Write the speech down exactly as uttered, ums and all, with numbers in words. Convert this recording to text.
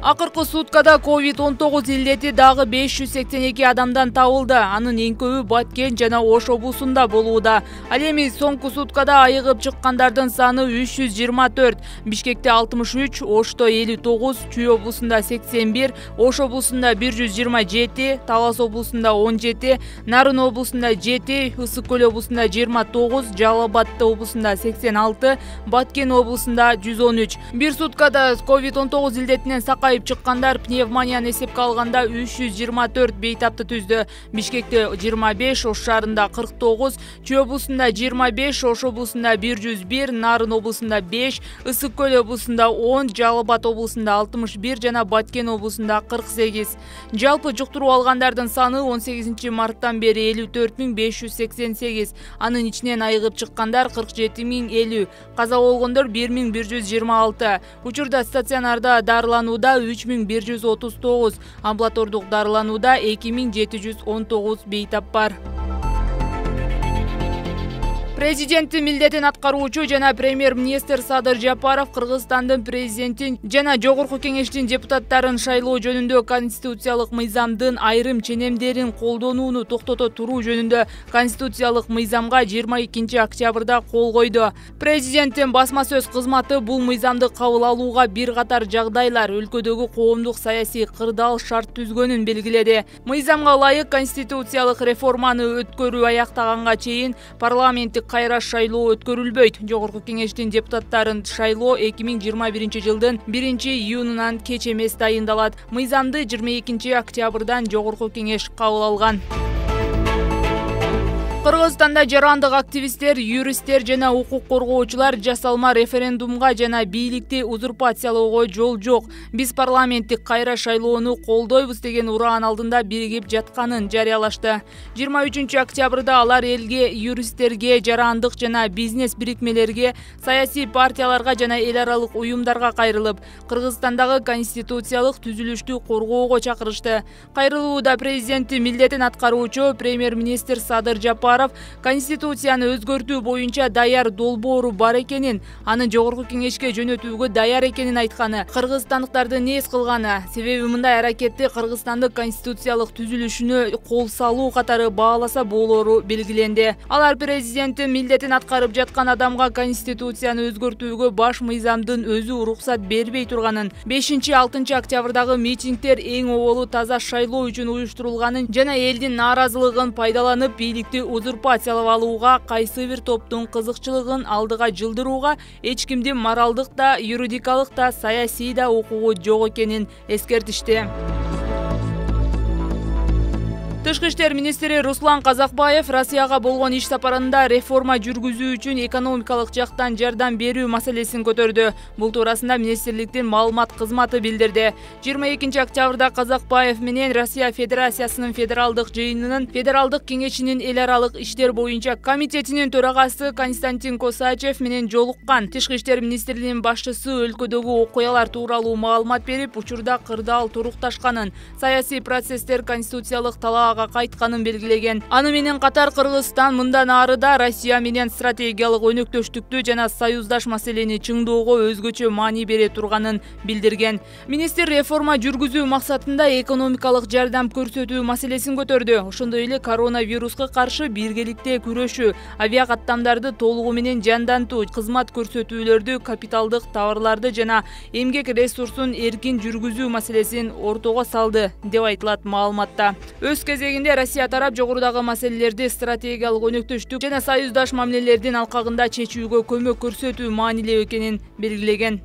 Акыркы суткада ковид он тогуз илдети дагы беш жүз сексен эки адамдан табылды. Анын эң көбү Баткен жана Ош облусунда болууда. Ал эми соңку суткада айыгып чыккандардын саны үч жүз жыйырма төрт. Бишкекте алтымыш үч, Ошто элүү тогуз, Чүй облусунда сексен бир, Ош облусунда бир жүз жыйырма жети, Талас облусунда он жети, Нарын облусунда жети, Ысык көл облусунда жыйырма тогуз, Жалал Абад облусунда сексен алты, Баткен облусунда жүз он үч. Бир суткада ковид он тогуз илдетинен сакайып чыккандар пневмонияны эсепке алганда үч жүз жыйырма төрт бейтапты түздү. Бишкекте жыйырма беш, Ош шаарында кырк тогуз, Чүй облусунда жыйырма беш, Ош облусунда бир жүз бир, Нарын облусунда беш, Ысык көл облусунда он, Жалал Абад облусунда алтымыш бир жана Баткен облусунда кырк сегиз. Жалпы жуктуруп алгандардын саны он сегизинчи марттан бери элүү төрт миң беш жүз сексен сегиз. Анын ичинен айыгып чыккандар кырк жети миң элүү, каза болгондор бир миң бир жүз жыйырма алты. Учурда стационарда дарыланууда үч миң бир жүз отуз тогуз, амбулатордук дарыланууда эки миң жети жүз он тогуз бейтап бар. Президенттин милдетин аткаруучу жана премьер-министр Садыр Жапаров Кыргызстандын президентин жана Жогорку Кеңештин депутаттарын шайлоо жөнүндө конституциялык мыйзамдын айрым ченемдерин колдонууну токтото туруу жөнүндө конституциялык мыйзамга жыйырма экинчи октябрда кол койду. Президенттин басма сөз кызматы бул мыйзамды кабыл алууга бир катар жагдайлар, өлкөдөгү коомдук саясий кырдаал шарт түзгөнүн белгиледи. Мыйзамга ылайык конституциялык реформаны өткөрүү аяктаганга чейин парламенттик кайра шайлоо өткөрүлбөйт. Жогорку Кеңештин депутаттарын шайлоо эки миң жыйырма биринчи жылдын биринчи июнунан кеч эмес дайындалат. Мыйзамды жыйырма экинчи октябрдан Жогорку Кеңеш кабыл алган. Кыргызстанда жарандык активисттер, юристтер жана укук коргоочулар жасалма референдумга жана бийликти узурпациялоого жол жок. Биз парламенттик кайра шайлоону колдойбуз деген ураан алдында биригип жатканын жарыялашты. жыйырма үчүнчү октябрда алар элге, юристтерге, жарандык жана бизнес бирикмелерге, саясий партияларга жана эл аралык уюмдарга кайрылып, Кыргызстандагы конституциялык түзүлүштү коргоого чакырышты. Кайрылууда президенттин милдетин аткаруучу премьер-министр Садыр Жапаров конституцияны өзгөртүү боюнча даяр долбоору бар экенин, аны Жогорку Кеңешке жөнөтүүгө даяр экенин айтканы, кыргызстандыктарды нээз кылганы, себеби мындай аракетти Кыргызстандын конституциялык түзүлүшүнө кол салуу катары бааласа болору белгиленди. Алар президенттин милдетин аткарып жаткан адамга конституцияны өзгөртүүгө баш мыйзамдын өзү уруксат бербей турганын, бешинчи алтынчы октябрдагы митингдер эң оболу таза шайлоо үчүн уюштурулганын жана элдин нааразылыгын пайдаланып бийликти узурпациялап алууга, кайсы бир топтун кызыкчылыгын алдыга жылдырууга эч кимдин моралдык да, юридикалык да, саясий да укугу жок экенин эскертишти. Тышкы иштер министри Руслан Казакбаев Россияга болгон иш сапарында реформа жүргүзүү үчүн экономикалык жактан жардам берүү маселесин көтөрдү. Бул туурасында министрликтин маалымат кызматы билдирди. жыйырма экинчи октябрда Казакбаев менен Россия Федерациясынын федералдык жыйынынын федералдык кеңешинин эл аралык иштер боюнча комитетинин төрагасы Константин Косачев менен жолуккан. Тышкы иштер министрлигинин башчысы өлкөдөгү окуялар тууралуу маалымат берип, учурда кырдаал турукташканын, саясий процесстер конституциялык талаа кайтканын белгилеген. Аны менен катар Кыргызстан мындан ары да Россия менен стратегиялык өнөктөштүктү жана союздаш маселени чыңдоого өзгөчө маани бере турганын билдирген. Министр реформа жүргүзүү максатында экономикалык жардам көрсөтүү маселесин көтөрдү. Ошондой эле коронавируска каршы биргеликте күрөшүү, авиакаттамдарды толугу менен жандантуу, кызмат көрсөтүүлөрдү, капиталдык товарларды жана эмгек ресурсун эркин жүргүзүү маселесин ортого салды, деп айтылат маалыматта. Өз кезегинде Россия тарап жогорудагы маселелерди стратегиялык өнөктөштүк жана союздаш мамилелердин алкагында чечүүгө көмөк көрсөтүү маанилүү экенин белгилеген.